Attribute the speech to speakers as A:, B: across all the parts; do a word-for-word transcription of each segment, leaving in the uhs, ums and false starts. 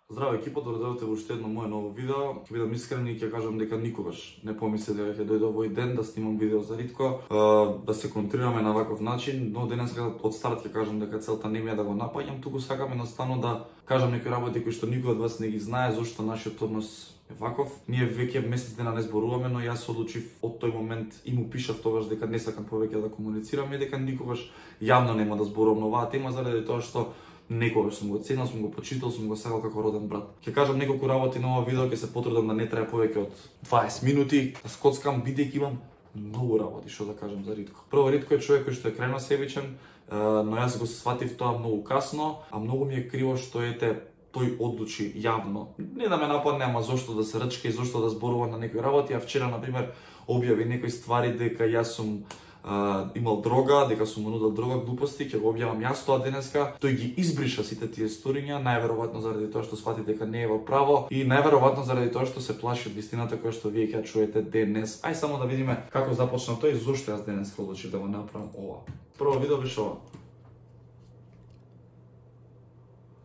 A: Здраво екипа, добредојдовте во уште едно мое ново видео. Ќе бидам искрен и ќе кажам дека никогаш не помислев дека ќе дојде овој ден да снимам видео за Ритко, да се концентрираме на ваков начин, но денеска од старт ќе кажам дека целта не ми е да го напаѓам, туку сакам едноставно да кажам некои работи кои што никој од вас не ги знае зошто нашиот однос е ваков. Ние веќе месец дена не зборуваме, но јас одлучив од тој момент и му пишав тогаш дека не сакам повеќе да комуницираме и дека никогаш јавно нема да зборувам на оваа тема заради тоа што некогаш сум го ценил, сум го почитал, сум го сакал како роден брат. Ќе кажам неколку работи на ова видео, ќе се потрудам да не трае повеќе од дваесет минути, да скоцкам бидејќи имам многу работи што да кажам за Ритко. Прво, Ритко е човек кој што е крајно себичен, но јас го сватив тоа многу касно, а многу ми е криво што ете тој одлучи јавно. Не да ме нападне, ама зошто да се рчка и зошто да зборува на некои работи, а вчера на пример објави некои ствари дека јас сум Uh, имал дрога, дека сум му нудел дрога, глупости, ќе го објавам јас тоа денеска. Тој ги избриша сите тие сториња, најверојатно заради тоа што сфати дека не е во право и најверојатно заради тоа што се плаши од вистината која што вие ќе чуете денес. Ај само да видиме како започна тој и зошто јас денеска одлучив да го направам ова. Прво видео беше ова.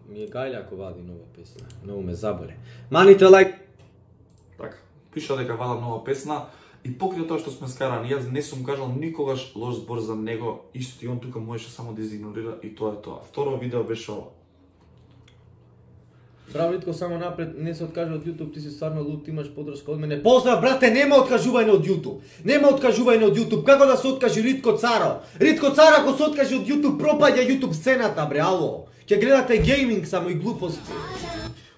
B: Ми е гајле ако вади нова песна. Многу ме заболе. Маните лайк.
A: Така, пиша дека вадам нова песна. И покрај тоа што сме скарани, јас не сум кажал никогаш лош збор за него, исто и он тука можеше само да изигнорира и тоа е тоа. Второ видео беше ова.
B: Браво Ритко, само напред, не се откажи од YouTube, ти си стварно луд, имаш подршка од мене. Поздрав брате, нема откажување од YouTube. Нема откажување од YouTube. Како да се откажи Ритко Царо? Ритко Царо ако се откажи од YouTube, пропаѓа YouTube сцената, бре, ало. Ќе гледате гейминг само и глупости.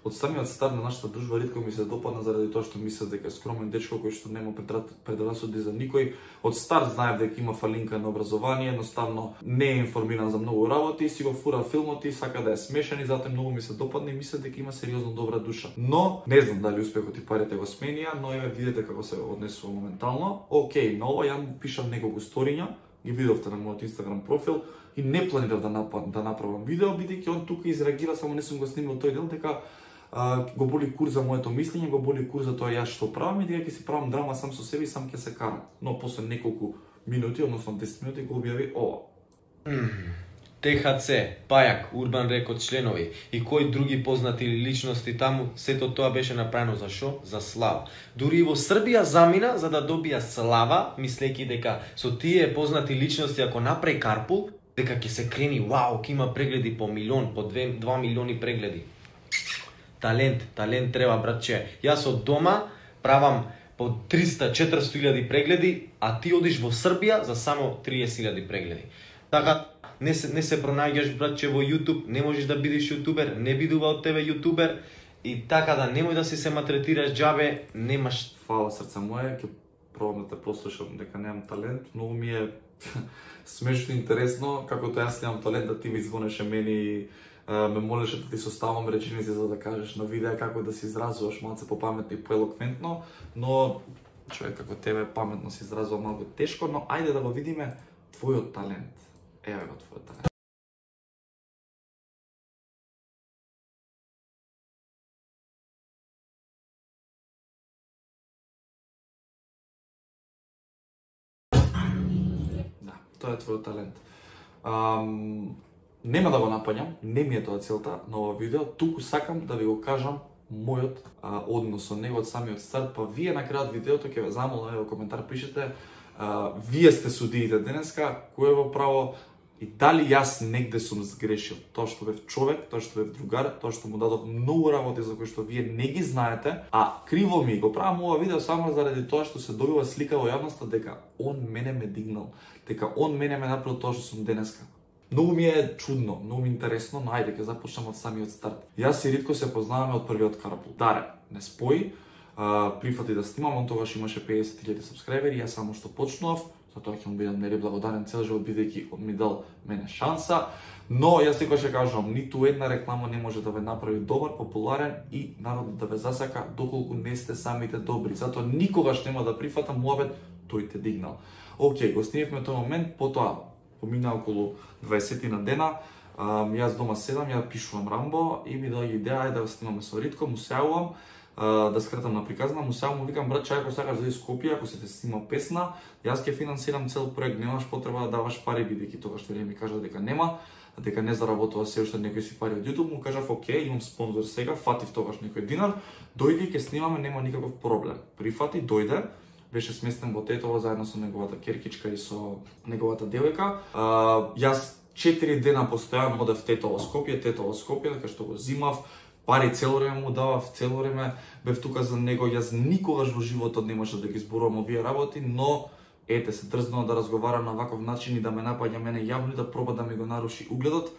A: Од самиот старт на нашата дружба Ритко ми се допадна заради тоа што мислев дека е скромен дечко кој што нема предрасуди за никој. Од старт знаев дека има фалинка на образование, едноставно не е информиран за многу работи, си го фура филмот и сака да е смешен и затоа многу ми се допадна и мислев дека има сериозно добра душа. Но не знам дали успехот и парите го сменија, но еве видете како се однесува моментално. Океј, на ова ја му пишам неколку сториња, ги видовте на мојот Инстаграм профил и не планирав да напад, да направам видео бидејќи он тука изреагира, само не сум го снимал тој дел дека Uh, го боли кур за моето мислење, го боли кур за тоа јас што правам и дека ќе си правам драма сам со себе и сам ќе се карам. Но после неколку минути, односно десет минути, го објави ова.
B: Т Х Ц, Пајак, Урбан Рекорд членови и кои други познати личности таму, сето тоа беше направено за шо? За слава. Дури и во Србија замина за да добија слава, мислејќи дека со тие познати личности ако направи карпул, дека ќе се крени, вау, ќе има прегледи по милион, по два милиони прегледи. Талент, талент треба, братче. Јас од дома правам по триста четиристо илјади прегледи, а ти одиш во Србија за само триесет илјади прегледи. Така, не се, не се пронаѓаш, братче, во YouTube, не можеш да бидеш јутубер, не бидува од тебе јутубер, и така да немој да си се матретираш џабе, немаш...
A: Фала срце моје, ќе пробам да те послушам дека немам талент, многу ми е смешно интересно, како тоа јас немам талент да ти ми звонеше мене и ме молеше да ти составам реченици за да кажеш на видео како да се изразуваш малце попаметно и поелоквентно, но човек како тебе паметно се изразува малку тешко, но ајде да го видиме твојот талент. Еве го твојот талент. Да, тоа е твојот талент. Um, Нема да го напаѓам, не ми е тоа целта на ова видео, туку сакам да ви го кажам мојот а, однос со него од самиот старт, па вие на крајот видеото ќе ве замолам, во коментар пишете, а, вие сте судиите денеска, кој е во право и дали јас негде сум сгрешил. Тоа што бев човек, тоа што бев другар, тоа што му дадов многу работи за кои што вие не ги знаете, а криво ми го правам ова видео само заради тоа што се добива слика во јавноста дека он мене ме дигнал, дека он мене ме направил тоа што сум денеска. Многу ми е чудно, многу ми интересно, но ајде ќе започнам од самиот старт. Јас и Ритко се познаваме од првиот карпул. Даре, не спои, а, прифати да снимам, он тогаш имаше песет илјади сабскрајбери, јас само што почнував, затоа ќе му бидам нели благодарен цел живот бидејќи он ми дал мене шанса, но јас секогаш ќе кажам, ниту една реклама не може да ве направи добар, популарен и народот да ве засака доколку не сте самите добри. Затоа никогаш нема да прифатам муабет тој те дигнал. Океј, го снимавме тој момент, потоа помина околу дваесет на дена, а, јас дома седам, ја пишувам Рамбо и ми доаѓа идеја да го снимаме со Ритко, му се јавувам, да скратам на приказна, му се јавувам, му викам брат, чај ако сакаш да из Скопје, ако се те снима песна, јас ќе финансирам цел проект, немаш потреба да даваш пари бидејќи тогаш што ми кажа дека нема. дека не заработува се уште некои си пари од YouTube, му кажав, окей, имам спонзор сега, фатив тогаш некој динар, дојди ќе снимаме, нема никаков проблем. Прифати, дојде, беше сместен во Тетово заедно со неговата керкичка и со неговата девојка. Јас четири дена постојано одев Тетово Скопје, Тетово Скопје, така што го зимав, пари цело време му давав, цело време бев тука за него. Јас никогаш во животот немаше да ги зборувам овие работи, но ете се дрзнува да разговара на ваков начин и да ме напаѓа мене јавно и да проба да ми го наруши угледот.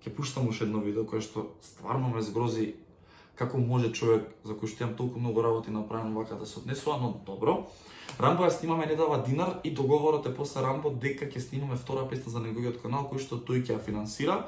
A: Ќе пуштам уште едно видео кое што стварно ме згрози како може човек за кој што имам толку многу работи направено вака да се однесува, но добро. Рамбо ја снимаме, не дава динар и договорот е после Рамбо дека ќе снимаме втора песна за неговиот канал кој што тој ќе ја финансира.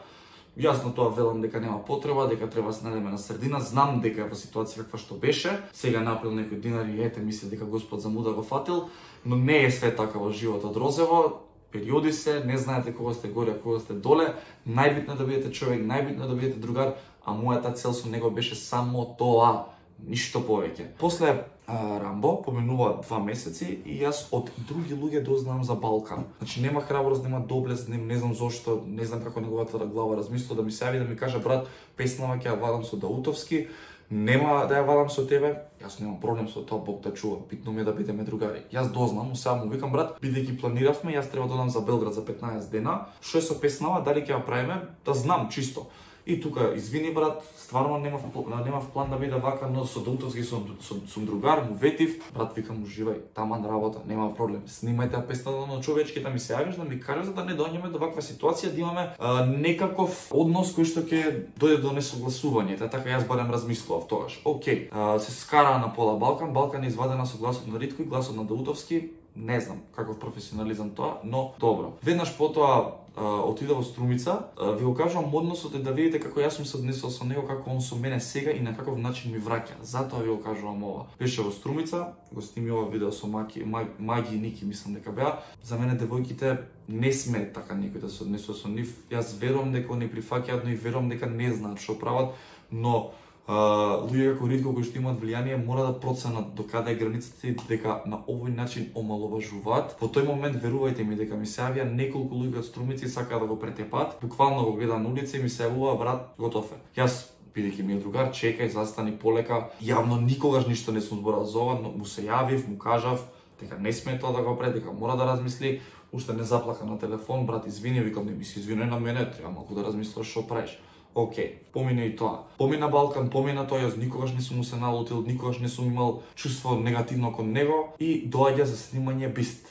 A: Јасно тоа велам дека нема потреба, дека треба да се најдеме на средина. Знам дека е во ситуација каква што беше. Сега направил некој динар и ете мисли дека Господ за муда го фатил, но не е све така во животот розово. Периоди се, не знаете кога сте горе, а кога сте доле. Најбитно е да бидете човек, најбитно е да бидете другар, а мојата цел со него беше само тоа, ништо повеќе. После а, Рамбо поминува два месеци и јас од други луѓе дознавам за Балкан. Значи нема храброст, нема доблест, не, не знам зошто, не знам како неговата глава размислува да ми се јави да ми каже брат, песнава ќе ја вадам со Даутовски, нема да ја вадам со тебе. Јас немам проблем со тоа, Бог да чува, битно ми е да бидеме другари. Јас дознам, сега му викам брат, бидејќи планиравме, јас треба да одам за Белград за петнаесет дена. Што е со песнава, дали ќе ја правиме, да знам чисто. И тука, извини брат, стварно немав, немав план да биде вака, но со Даутовски сум, сум другар, му ветив. Брат, викам, уживај, таман работа, нема проблем. Снимајте ја песната, но човечки да ми се јавиш, да ми кажеш за да не доаѓаме до ваква ситуација, да имаме а, некаков однос кој што ќе дојде до несогласување. Така јас барем размислував тогаш. Океј, а, се скара на пола Балкан, Балкан е извадена со гласот на Ритко и гласот на Даутовски. Не знам каков професионализам тоа, но добро. Веднаш потоа отида во Струмица, ви го кажувам односот е да видите како јас сум се однесувал со него, како он со мене сега и на каков начин ми враќа. Затоа ви го кажувам ова. Беше во Струмица, го сними ова видео со Маки, Маги и Ники, мислам дека беа. За мене девојките не сме така некој да се однесува со нив. Јас верувам дека они прифаќаат, но и верувам дека не знаат што прават, но Uh, луѓе како Ритко кои што имаат влијание мора да проценат до каде е границата и дека на овој начин омаловажуваат. Во тој момент верувајте ми дека ми се јавија неколку луѓе од Струмици сакаа да го претепат. Буквално го гледа на улица и ми се јавува брат, готов е. Јас бидејќи ми е другар, чекај, застани полека. Јавно никогаш ништо не сум зборал за ова, но му се јавив, му кажав дека не сме тоа да го прави, дека мора да размисли. Уште не заплака на телефон, брат, извини, викам, не ми се извини на мене, треба малку да размислиш што правиш. Океј, помина и тоа. Помина Балкан, помина тоа, јас никогаш не сум му се налутил, никогаш не сум имал чувство негативно кон него и доаѓа за снимање Бист.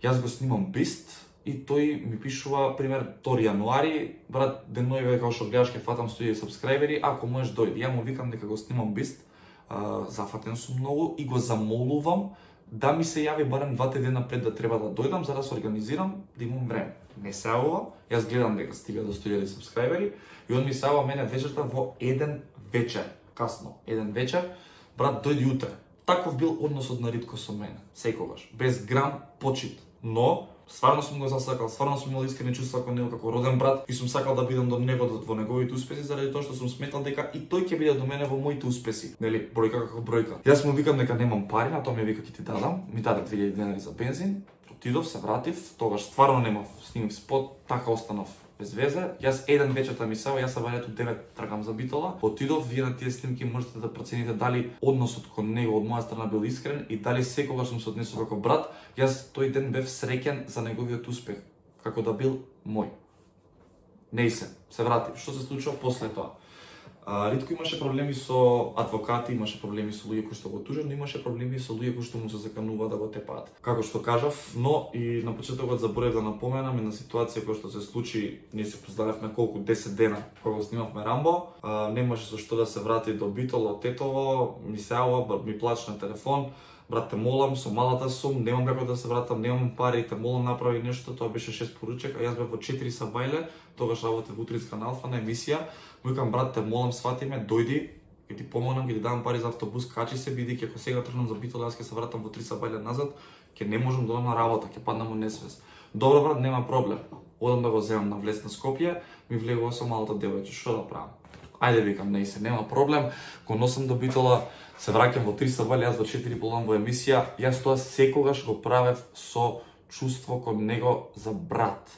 A: Јас го снимам Бист и тој ми пишува, пример, втори јануари, брат, денојве као што гледаш ке фатам сто илјади сабскрајбери, ако можеш дојди. Ја му викам дека го снимам Бист, а, зафатен сум многу и го замолувам да ми се јави барем двата дена пред да треба да дојдам за да се организирам, да имам време. Не се јавува, јас гледам дека стига до сто илјади сабскрајбери и он ми се јавува мене вечерта во еден вечер, касно, еден вечер, брат, дојди утре. Таков бил односот на Ритко со мене, секогаш, без грам почит. Но стварно сум го засакал, стварно сум имал искрени чувства кон него како роден брат и сум сакал да бидам до него во неговите успеси заради тоа што сум сметал дека и тој ќе биде до мене во моите успеси. Нели, бројка како бројка. Јас му викам дека немам пари, а тоа ми вика ќе ти дадам. Ми даде две илјади денари за бензин. Отидов, се вратив, тогаш стварно немав, снимив спот, така останав без везе. Јас еден вечерта ми сава, јас се вајдето девет трагам за Битола. Отидов, вие на тие снимки можете да процените дали односот кон него од моја страна бил искрен и дали секогаш сум се однесувал како брат. Јас тој ден бев среќен за неговиот успех, како да бил мој. Не и се, се вратив. Што се случува после тоа? А, Ритко имаше проблеми со адвокати, имаше проблеми со луѓе кои што го тужат, но имаше проблеми со луѓе кои што му се заканува да го тепаат. Како што кажав, но и на почетокот заборев да напоменам една ситуација која што се случи, ние се познававме колку десет дена кога снимавме Рамбо, а, немаше со што да се врати до Битола од Тетово, ми се јавува, ми плаче на телефон. Брат, те молам, со малата сум, немам како да се вратам, немам пари, те молам направи нешто, тоа беше шест поручек, а јас бев во четири сабајле, тогаш работев во Утринска на Алфа на емисија. Му викам, брат, те молам, свати ме, дојди, ќе ти помогнам, ќе ти дадам пари за автобус, качи се, бидејќи ако сега тргнам за Битола, јас ќе се вратам во три сабајле назад, ќе не можам да одам на работа, ќе паднам во несвес. Добро, брат, нема проблем. Одам да го земам на влез на Скопје, ми влегува со малата девојче, што да правам? Ајде, викам, не се, нема проблем, го носам до Битола, се враќам во три сабајле, јас во четири полам во емисија, јас тоа секогаш го правев со чувство кон него за брат.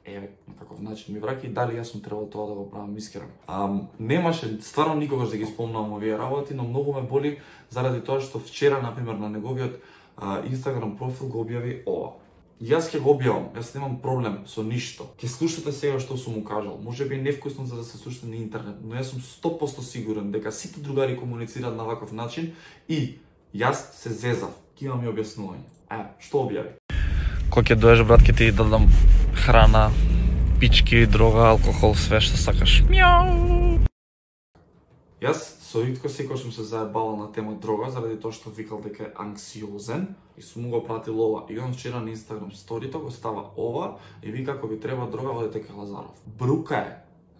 A: еве, на каков начин ми враќа и дали јас сум требал тоа да го правам, искрено. Ам, немаше стварно никогаш да ги спомнам овие работи, но многу ме боли заради тоа што вчера, например, на неговиот а, Инстаграм профил го објави ова. Јас ќе го објавам, јас немам проблем со ништо. Ќе слушате сега што сум му кажал. Може би невкусно за да се слушате на интернет, но јас сум сто проценти сигурен дека сите другари комуницираат на ваков начин и јас се зезав. Ќе имам и објаснување. Е, што објави?
C: Кој ќе доеш, брат, ќе ти дадам храна, пички, дрога, алкохол, све што сакаш. Мјау!
A: Јас со Ритко секој сум се заебавал на тема дрога, заради тоа што викал дека е анксиозен и сум му го пратил ова. И он вчера на Инстаграм сторито го става ова и вика ако ви треба дрога, одете кај Лазаров. Брука е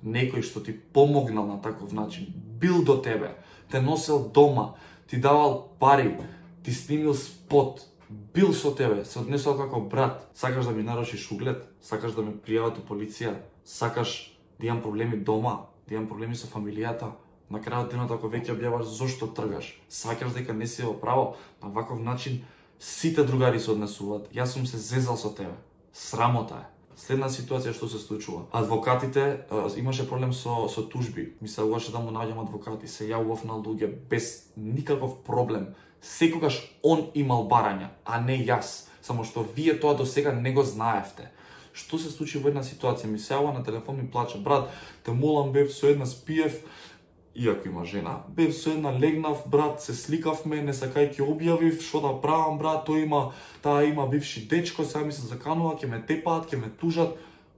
A: некој што ти помогнал на таков начин, бил до тебе, те носел дома, ти давал пари, ти снимил спот, бил со тебе, се однесол како брат, сакаш да ми нарушиш углед, сакаш да ме пријават у полиција, сакаш да имам проблеми дома, да имам проблеми со фамилијата, на крајот денот ако веќе објаваш зошто тргаш, сваќаш дека не си во право, на ваков начин сите другари се однесуваат. Јас сум се зезал со тебе. Срамота е. Следна ситуација што се случува. Адвокатите а, имаше проблем со со тужби. Ми се угаше да му најдам адвокати, се јавував на луѓе без никаков проблем. Секогаш он имал барања, а не јас. Само што вие тоа до сега не го знаевте. Што се случи во една ситуација? Ми се јавува на телефон, ми плаче: брат, те молам, бев со една спиев, иако има жена, бев со една легнав, брат, се сликавме, не сакај ќе објавив, што да правам, брат, тој има, таа има бивши дечко, сега ми се заканува, ќе ме тепаат, ќе ме тужат.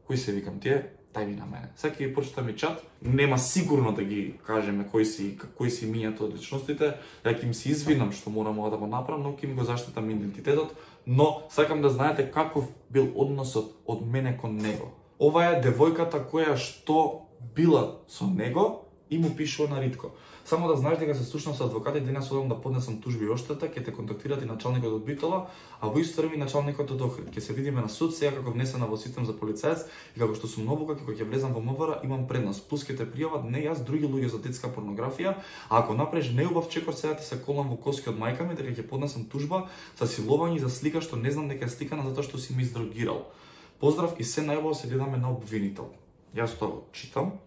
A: Кој се викам тие? Тај ми на мене. Сега ќе ги прочитам чат, нема сигурно да ги кажеме кои си кои си мињето од личностите, ја ќе им се извинам што морам ова да го направам, но ќе им го заштитам идентитетот, но сакам да знаете каков бил односот од мене кон него. Ова е девојката која што била со него и му пишува на Ритко. Само да знаеш дека се слушнам со адвокати, денес одам да поднесам тужби и оштета, ќе те контактират и началникот од Битола, а во исто време началникот од Охрид. Ќе се видиме на суд сега како внесена во систем за полицаец и како што сум обука, како ќе влезам во МВР, имам предност. Плюс ќе те пријават не јас, други луѓе за детска порнографија, а ако направиш неубав чекор, сега ти се колам во коски од мајка ми дека ќе поднесам тужба за силување и за слика што не знам дека е сликана затоа што си ми издрогирал. Поздрав и се најубаво се гледаме на обвинител. Јас тоа го читам,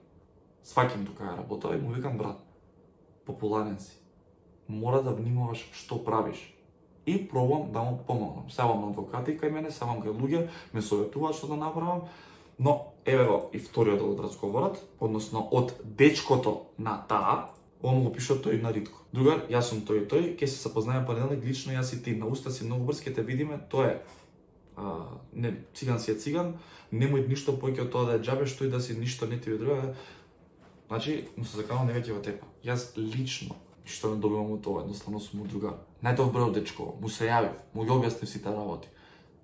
A: сваќам тука ја работа и му викам: брат, популарен си, мора да внимаваш што правиш. И пробам да му помогнам. Севам на адвокати кај мене, севам кај луѓе, ме советуваат што да направам, но еве го и вториот од разговорот, односно од дечкото на таа, ова му го пишува тој на Ритко. Другар, јас сум тој и тој, ќе се запознаеме понеделник лично јас и ти, на уста си многу брз, ќе те видиме, тоа е. А, не, циган си е циган, немој ништо поќе од тоа да е џабе, што и да си ништо не ти ведрува. Значи, му се заканувам не веќе во тепа. Јас лично ништо не добивам од тоа, едноставно сум му другар. Најдобро од дечко, му се јавив, му ги објаснив сите работи.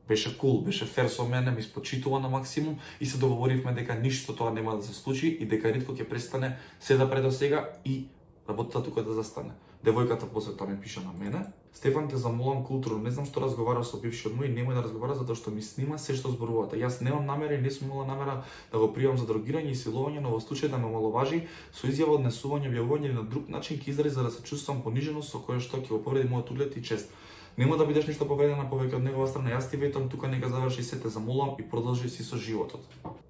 A: Беше кул, беше фер со мене, ми спочитува на максимум и се договоривме дека ништо тоа нема да се случи и дека Ритко ќе престане се да предо сега и работата тука да застане. Девојката после тоа ми пиша на мене: Стефан, те замолам културно, не знам што разговараш со бившиот мој, немој да разговара затоа што ми снима се што зборувате. Јас немам намера и не сум имала намера да го пријавам за дрогирање и силување, но во случај да ме омаловажи со изјава, однесување, објавување или на друг начин ќе изрази за да се чувствувам понижено, со кое што ќе го повреди мојот углед и чест. Нема да бидеш ништо повредена повеќе од негова страна. Јас ти ветам тука нека заврши се, те замолам и продолжи си со животот.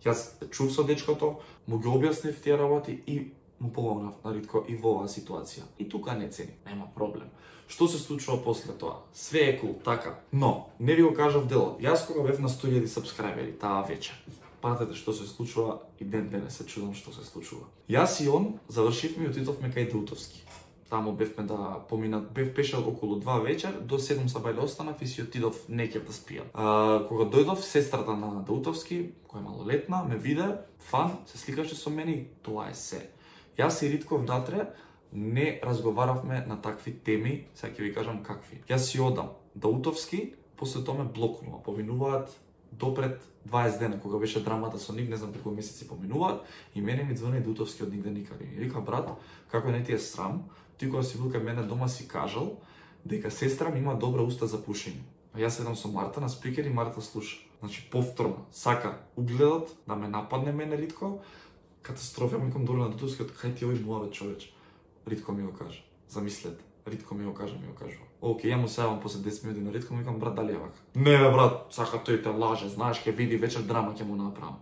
A: Јас чув со дечкото, му ги објаснив тие работи и му помогнав на Ритко и во оваа ситуација. И тука не цени, нема проблем. Што се случува после тоа? Све е кул, така. Но, не ви го кажав делот. Јас кога бев на сто илјади сабскрајбери таа вечер, пратете што се случува и ден денес се чудам што се случува. Јас и он завршивме и отидовме кај Даутовски. Таму бевме да поминат, бев пешал околу два вечер, до седум сабајле останав и си отидов некер да спијам. А, кога дојдов, сестрата на Даутовски, која е малолетна, ме виде, фан, се сликаше со мене и тоа е се. Јас и Ритко внатре не разговаравме на такви теми, сега ќе ви кажам какви. Јас си одам Даутовски, после тоа ме блокнува, поминуваат допред дваесет дена, кога беше драмата со нив, не знам колку месеци поминуваат, и мене ми звони Даутовски од нигде никаде. И вика: брат, како не ти е срам, ти кога си бил кај мене дома си кажал дека сестра ми има добра уста за пушење. А јас седам со Марта на спикер и Марта слуша. Значи повторно сака угледот да ме нападне мене Ритко. Катастрофа, ми ком долу на Даутовски, кај ти овој муавет човеч. Ритко ми го кажа. Замислете. Ритко ми го кажа, ми го кажува. Океј, ја му се јавам после десет минути на Ритко, му викам: брат, дали е вака? Не бе, брат, сака тој те лаже, знаеш, ќе види вечер драма ќе му направам.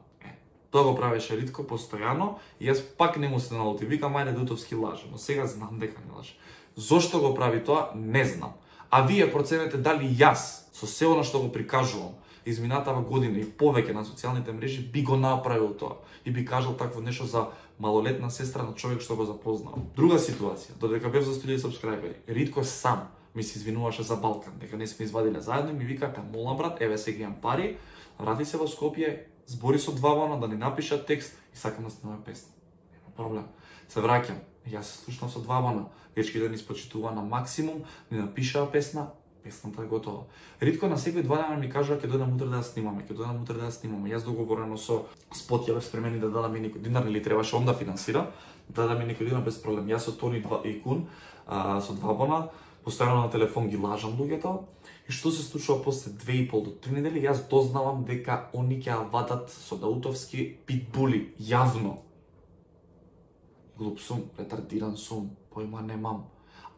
A: Тоа го правеше Ритко постојано и јас пак не му се налути. Викам, ајде Дутовски лаже, но сега знам дека не лаже. Зошто го прави тоа, не знам. А вие проценете дали јас, со се она што го прикажувам, изминатава година и повеќе на социјалните мрежи, би го направил тоа и би кажал такво нешто за малолетна сестра на човек што го запознал. Друга ситуација, додека бев за сто илјади сабскрајбери, Ритко сам ми се извинуваше за Балкан, дека не сме извадиле заедно и ми вика, те молам брат, еве сега имам пари, врати се во Скопје, збори со Двабана да ни напишат текст и сакам да снимаме песна. Нема проблем. Се враќам, јас се слушнав со Двабана, дечки да ни спочитува на максимум, ни напишаа песна, песната е готова. Ритко на секој два дена ми кажува ќе дојдам утре да ја снимаме, ќе дојдам утре да ја снимаме. Јас договорено со Спот ја бев спремени да дадам и некој динар или требаше он да финансира, да дадам и некој динар без проблем. Јас со Тони два и Кун, а, со Двабана, постојано на телефон ги лажам луѓето. И што се случува после две и пол до три недели, јас дознавам дека они ќе ја вадат со Даутовски питбули јавно. Глуп сум, ретардиран сум, појма немам.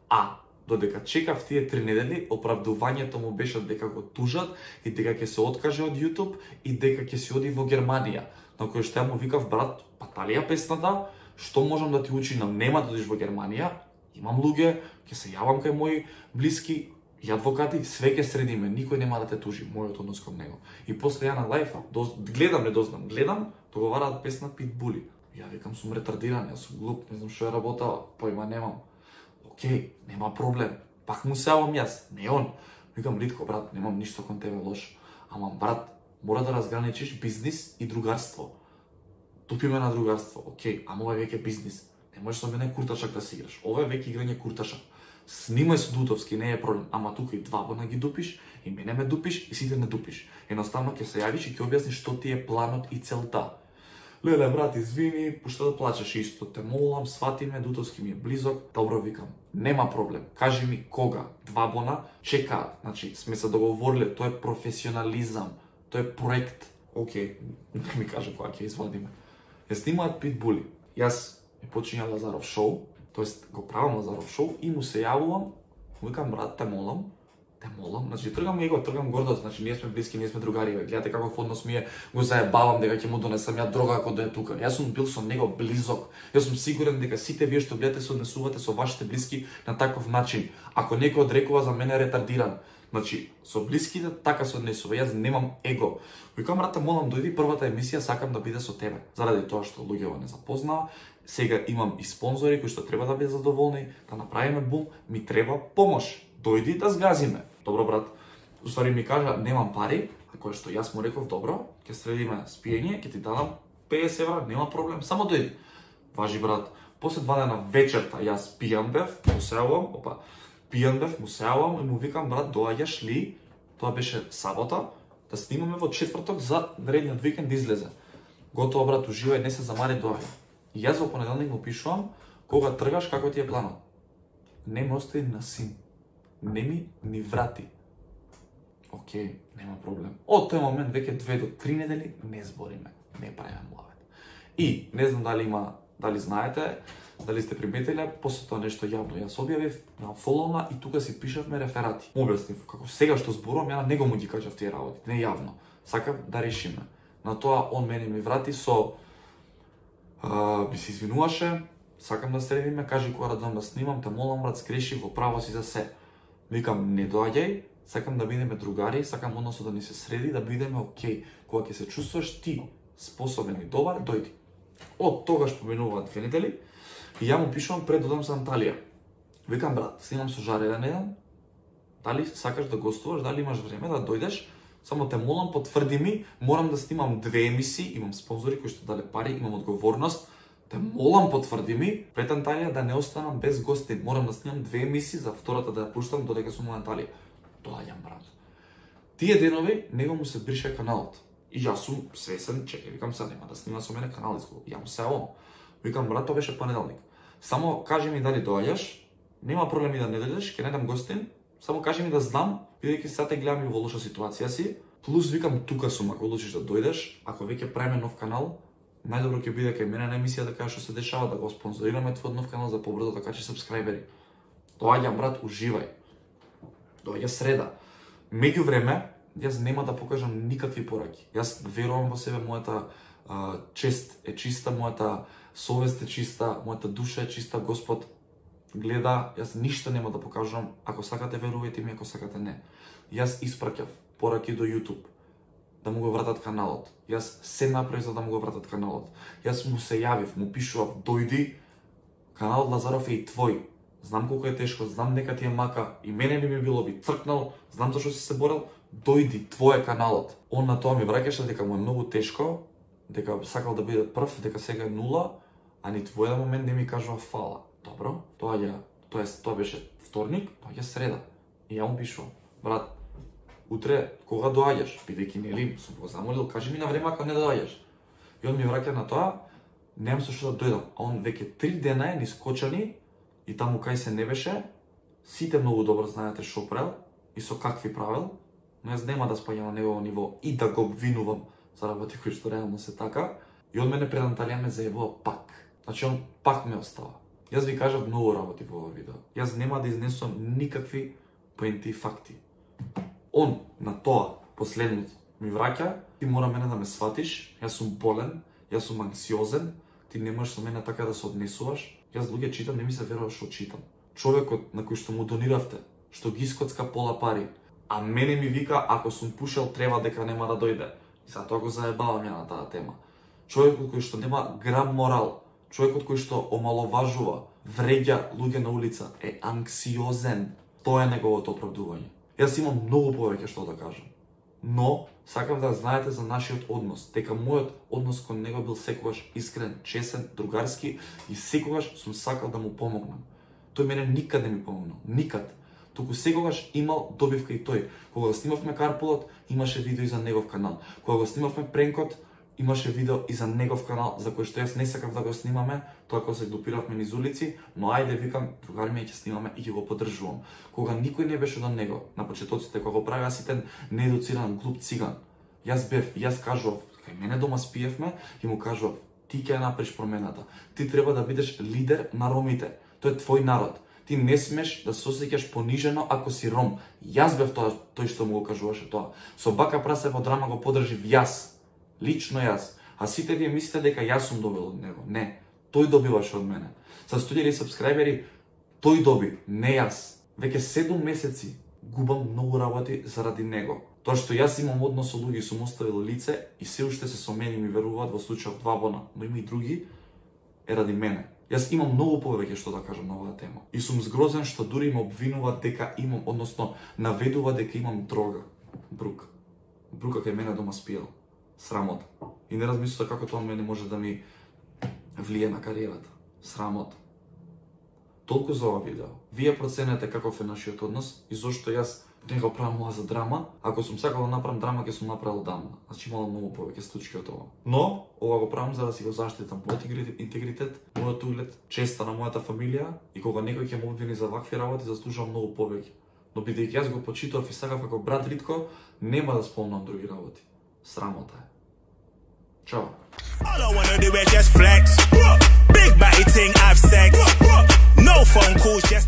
A: А додека чекав тие три недели, оправдувањето му беше дека го тужат и дека ќе се откаже од YouTube и дека ќе се оди во Германија. На кој што ја му викав, брат, па тали ја песната, што можам да ти учинам, нема да одиш во Германија, имам луѓе, ќе се јавам кај мои блиски и адвокати, све ќе средиме, никој нема да те тужи, мојот однос кон него. И после ја на лајфа, гледам, не дознам, гледам, договараат песна Питбули. Ја викам, сум ретардиран, јас сум глуп, не знам што ја работава, појма немам. Океј, нема проблем. Пак му се јавам јас, не он. Викам, Ритко, брат, немам ништо кон тебе лош. Ама, брат, мора да разграничиш бизнис и другарство. Тупиме на другарство, океј, ама ова е веќе бизнис. Не можеш со мене курташак да си играш. Ова е веќе играње курташак. Снимај со Дутовски, не е проблем, ама тука и Двабана ги дупиш, и мене ме дупиш, и сите не дупиш. Едноставно ќе се јавиш и ќе објасниш што ти е планот и целта. Леле, брат, извини, пошто да плачеш исто, те молам, свати ме, Дутовски ми е близок. Добро, викам, нема проблем. Кажи ми кога, Двабана, чекаат. Значи, сме се договориле, тоа е професионализам, тоа е проект. Океј, не ми каже кога ќе извадиме. Ја снимаат Питбули. Јас ја почињам Лазаров шоу, тоест го правам Лазаров шоу и му се јавувам, викам, брат, те молам, те молам, значи тргам его, тргам гордост, значи ние сме блиски, ние сме другари, гледате каков однос ми е, го заебавам дека ќе му донесам ја дрога ако да е тука. Јас сум бил со него близок. Јас сум сигурен дека сите вие што гледате се однесувате со вашите блиски на таков начин. Ако некој одрекува за мене ретардиран, значи со блиските така се однесува. Јас немам его. Викам, брате, молам, дојди првата емисија, сакам да биде со тебе. Заради тоа што луѓето не запознаа, сега имам и спонзори кои што треба да бидат задоволни, да направиме бум, ми треба помош. Дојди да згазиме. Добро, брат. Уствари ми кажа, немам пари, а кое што јас му реков, добро, ќе средиме спиење, ќе ти дадам педесет евра, нема проблем, само дојди. Важи, брат. После два дена вечерта јас пијан бев, му се јавувам, опа, пијан бев, му се јавувам и му викам, брат, доаѓаш ли? Тоа беше сабота, да снимаме во четврток за наредниот викенд да излезе. Готово, брат, уживај, не се замари, доаѓа. И јас во понеделник му пишувам, кога тргаш, како ти е планот? Не ме остави на син. Не ми ни врати. Океј, нема проблем. Од тој момент веќе две до три недели не збориме, не правиме муавет. И не знам дали има, дали знаете, дали сте приметиле, после тоа нешто јавно јас објавив на фоловна и тука си пишавме реферати. Му објаснив како сега што зборувам, ја на него му ги кажав тие работи, не јавно. Сакам да решиме. На тоа он мене ми врати со а, би се извинуваше, сакам да средиме, кажи кога да дам да снимам, те молам, брат, скреши, во право си за се. Викам, не доаѓај, сакам да бидеме другари, сакам односот да ни се среди, да бидеме окей. Кога ќе се чувствуваш ти способен и добар, дојди. Од тогаш поминуваат две недели и ја му пишувам пред додам за Анталија. Викам, брат, снимам со Жаре еден еден, дали сакаш да гостуваш, дали имаш време да дојдеш, само те молам, потврди ми, морам да снимам две емисии, имам спонзори кои што дале пари, имам одговорност, те молам, потврди ми, пред Анталија да не останам без гости. Морам да снимам две емисии, за втората да ја пуштам додека сум во Анталија. Доаѓам, брат. Тие денови него му се брише каналот. И јас сум свесен, чекај, викам се, нема да снима со мене канал изгуб. Ја му се јавам. Викам, брат, тоа беше понеделник. Само кажи ми дали доаѓаш, нема проблем и да не дојдеш, ќе не дам гостин, само кажи ми да знам, бидејќи сега те гледам и во лоша ситуација си. Плюс викам, тука сум, ако одлучиш да дојдеш, ако веќе правиме нов канал, најдобро ќе биде кај мене на емисија да кажеш што се дешава, да го спонзорираме твој нов канал за побрзо да качиш сабскрајбери. Доаѓам, брат, уживај. Доаѓа среда. Меѓу време, јас нема да покажам никакви пораки. Јас верувам во себе, мојата а, чест е чиста, мојата совест е чиста, мојата душа е чиста, Господ гледа, јас ништо нема да покажувам, ако сакате верувајте ми, ако сакате не. Јас испраќав пораки до YouTube да му го вратат каналот. Јас се направив за да му го вратат каналот. Јас му се јавив, му пишував, дојди, каналот Лазаров е и твој. Знам колку е тешко, знам дека ти е мака, и мене би ми било би цркнал, знам зашто си се борел, дојди, твој е каналот. Он на тоа ми враќаше дека му е многу тешко, дека сакал да биде прв, дека сега е нула, а ни во еден момент не ми кажува фала. Добро, тоа ја, тоа е, тоа беше вторник, тоа е среда. И ја му пишувам, брат, утре кога доаѓаш, бидејќи нели сум го замолил, кажи ми на време ако не доаѓаш. И он ми враќа на тоа, немам со што да дојдам. А он веќе три дена е нискочани и таму кај се не беше, сите многу добро знаете што правил и со какви правил, но јас нема да спаѓам на негово ниво и да го обвинувам за работи кои што реално се така. И он мене пред Анталија ме заебува пак. Значи он пак ме остава. Јас ви кажав многу работи во ова видео. Јас нема да изнесувам никакви поенти и факти. Он на тоа последното ми враќа, ти мора мене да ме сватиш, јас сум болен, јас сум анксиозен, ти не можеш со мене така да се однесуваш. Јас луѓе читам, не ми се верува што читам. Човекот на кој што му дониравте, што ги искоцка пола пари, а мене ми вика ако сум пушел треба дека нема да дојде. И затоа го заебавам ја на таа тема. Човекот кој што нема грам морал, човекот кој што омаловажува, вреѓа луѓе на улица, е анксиозен. Тоа е неговото оправдување. Јас имам многу повеќе што да кажам. Но, сакам да знаете за нашиот однос, дека мојот однос кон него бил секогаш искрен, чесен, другарски и секогаш сум сакал да му помогнам. Тој мене никад не ми помогнал, никад. Туку секогаш имал добивка и тој. Кога го снимавме Карполот, имаше видео и за негов канал. Кога го снимавме Пренкот, имаше видео и за негов канал, за кој што јас не сакав да го снимаме, тоа кога се глупиравме низ улици, но ајде викам, другари ми ќе снимаме и ќе го поддржувам. Кога никој не беше до него, на почетоците кога го правеа сите неедуциран глуп циган, јас бев, јас кажував, кај мене дома спиевме и му кажував, ти ќе ја направиш промената. Ти треба да бидеш лидер на ромите. Тој е твој народ. Ти не смеш да се осеќаш понижено ако си ром. Јас бев тоа, тој што му го кажуваше тоа. Со бака прасе во драма го подржив јас. Лично јас. А сите вие мислите дека јас сум добил од него. Не. Тој добиваше од мене. Со студији сабскрајбери, тој доби, не јас. Веќе седум месеци губам многу работи заради него. Тоа што јас имам однос со луѓе, сум оставил лице и се уште се со мене ми веруваат во случајот два бона, но има и други, е ради мене. Јас имам многу повеќе што да кажам на оваа тема. И сум згрозен што дури ме обвинуваат дека имам, односно наведува дека имам дрога. Брук. Брука кај мене дома спиел. Срамот. И не размислувате како тоа мене може да ми влие на кариерата. Срамот. Толку за ова видео. Вие проценете каков е нашиот однос и зошто јас не го правам ова за драма. Ако сум сакал да направам драма, ќе сум направил дамна. Значи имало многу повеќе случаи од ова. Но, ова го правам за да си го заштитам мојот интегритет, мојот углед, честа на мојата фамилија и кога некој ќе ме обвини за вакви работи, заслужувам многу повеќе. Но бидејќи јас го почитував и сакав како брат Ритко, нема да спомнам други работи. Срамота е. Чао. All I wanna do is just flex. Big body thing, I've sex. No phone calls, just